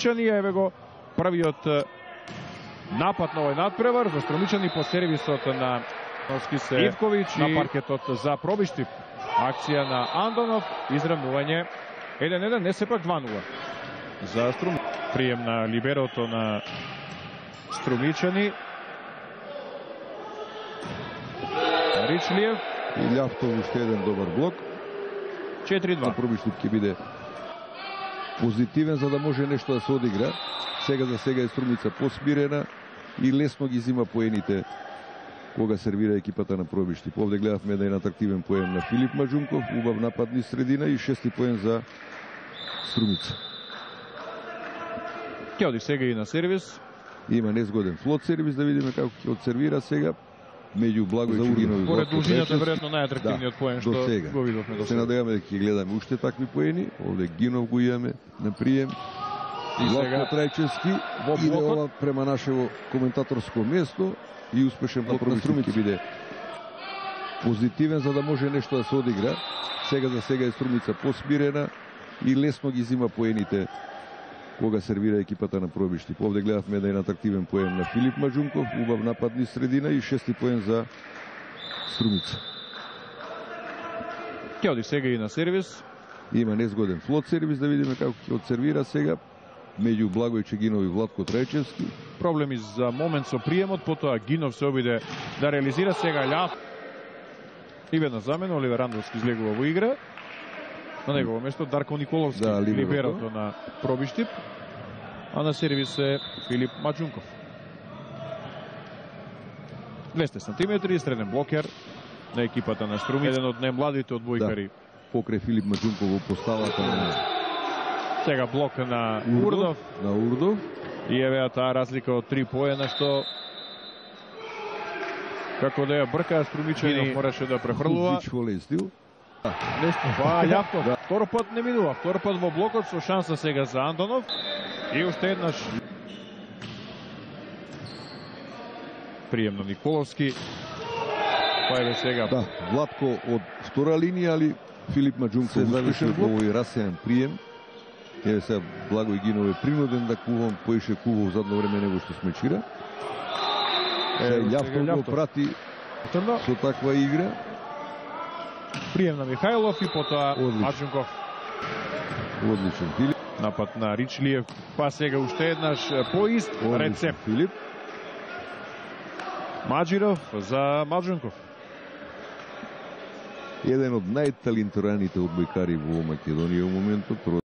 Струмичани, еве го првиот напад на овој надпревар за Струмичани по сервисот на Ивковиќ на паркетот за Пробиштип. Акција на Андонов, изравнување 1-1, не сепак 2-0 за Струмичани. Прием на либерото на Струмичани. Ричлиев и Љавтов уште еден добар блок. 4-2. Пробиштип ќе биде позитивен за да може нешто да се одигра. Сега за сега е Струмица посмирена и лесно ги зима поените кога сервира екипата на Пробиштип. Овде гледавме еден атрактивен поен на Филип Маџунков, убав напад низ средина и 6-ти поен за Струмица. Ќе оди сега и на сервис. Има незгоден флот сервис, да видиме како ќе одсервира сега. Меѓу Благој Чугинови. Поред дужината веројатно најатрактивниот поен што го видовме до сега. Се надеваме дека ќе гледаме уште такви поени. Овде Гинов го имаме на прием. И сега Трајчевски иде ова према нашево коментаторско место и успешен блок на Струмица ќе биде позитивен за да може нешто да се одигра. Сега за сега е Струмица посмирена и лесно ги зима поените кога сервира екипата на Пробиштип. Овде гледавме еден атрактивен поен на Филип Маџунков, убав напад низ средина и 6-ти поен за Струмица. Ќе оди сега и на сервис. Има незгоден флот сервис, да видиме како ќе одсервира сега меѓу Благој Чегинов и Владко Трајчевски. Проблеми за момент со приемот, потоа Гинов се обиде да реализира сега Љав. И веднаш замена Оливер Андовски излегува во игра. На негово место Дарко Николовски, либерото на Пробиштип, а на сервис е Филип Маџунков. 200 сантиметри, среден блокер на екипата на Струми, еден од најмладите одбојкари. Покрај Филип Маџунков во поставата на сега блок на Урдов. И еве таа разлика од 3 поена што како да ја бркаа Струмичани мораше да префрлува. Љавтов. Втор пат не минува. Втор пат во блокот со шанса сега за Андонов. И уште еднаш прием на Николовски. Па еве сега. Да, Владко од втора линија, али Филип Маџунков завршил во овој расејан прием. Еве сега Благој Гинов е принуден да кувам, поише кував задно време него што смечира. Љавтов го прати со таква игра. Прием на Михајлов и потоа Маџунков. Одличен Филип. Напад на Ричлиев, па сега уште еднаш поист рецепт. Филип. Маџиров за Маџунков. Еден од најталентираните одбојкари во Македонија во моментот.